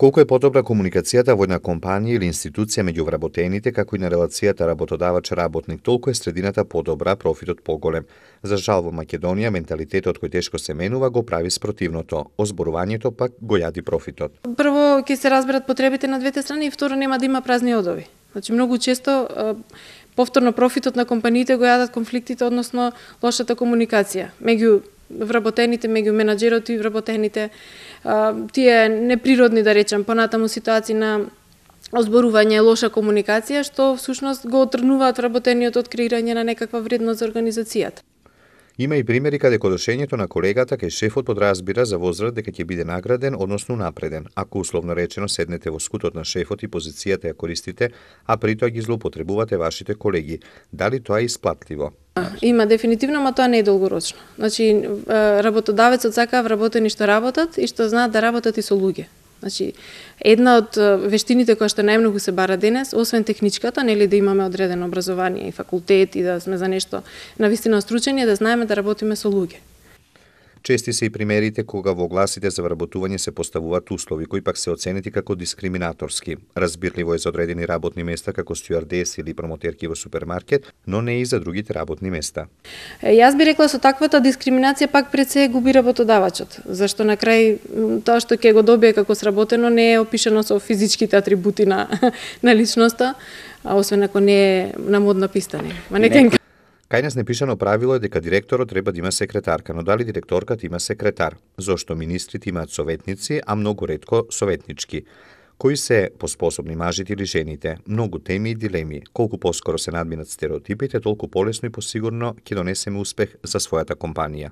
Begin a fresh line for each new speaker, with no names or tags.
Колку е подобра комуникацијата во една компанија или институција меѓу вработените, како и на релацијата работодавач-работник, толку е средината подобра, профитот поголем. За жал во Македонија, менталитетот кој тешко се менува го прави спротивното. Озборувањето пак го јади профитот.
Прво ќе се разберат потребите на двете страни и второ нема да има празни одови. Значи многу често повторно профитот на компаниите го јадат конфликтите, односно лошата комуникација меѓу вработените, меѓу менаџерот и вработените, тие неприродни, да речем, понатаму ситуации на озборување и лоша комуникација, што всушност го отрнуваат вработениот од креирање на некаква вредност за организацијата.
Има и примери каде кодошењето на колегата кај шефот подразбира за возраст дека ќе биде награден, односно напреден. Ако условно речено седнете во скутот на шефот и позицијата ја користите, а при тоа ги злоупотребувате вашите колеги, дали тоа е исплатливо?
Има дефинитивно, ама тоа не е долгорочно. Значи, работодавецот сака вработени што работат и што знаат да работат и со луѓе. Значи, една од вештините која што најмногу се бара денес, освен техничката, нели да имаме одредено образование и факултет и да сме за нешто навистина стручени, да знаеме да работиме со луѓе.
Чести се и примерите кога во огласите за вработување се поставуваат услови кои пак се оценети како дискриминаторски. Разбирливо е за одредени работни места како стюардес или промотерки во супермаркет, но не и за другите работни места.
Јас би рекла со таквата дискриминација пак пред се губи работодавачот, зашто на крај тоа што ќе го добие како сработено не е опишано со физичките атрибути на личноста, а освен ако не е на модна писта.
Кај нас непишано правило е дека директорот треба да има секретарка, но дали директорката има секретар? Зошто министрите имаат советници, а многу ретко советнички? Кои се поспособни мажите или жените? Многу теми и дилеми. Колку поскоро се надминат стереотипите, толку полесно и посигурно ќе донесеме успех за својата компанија.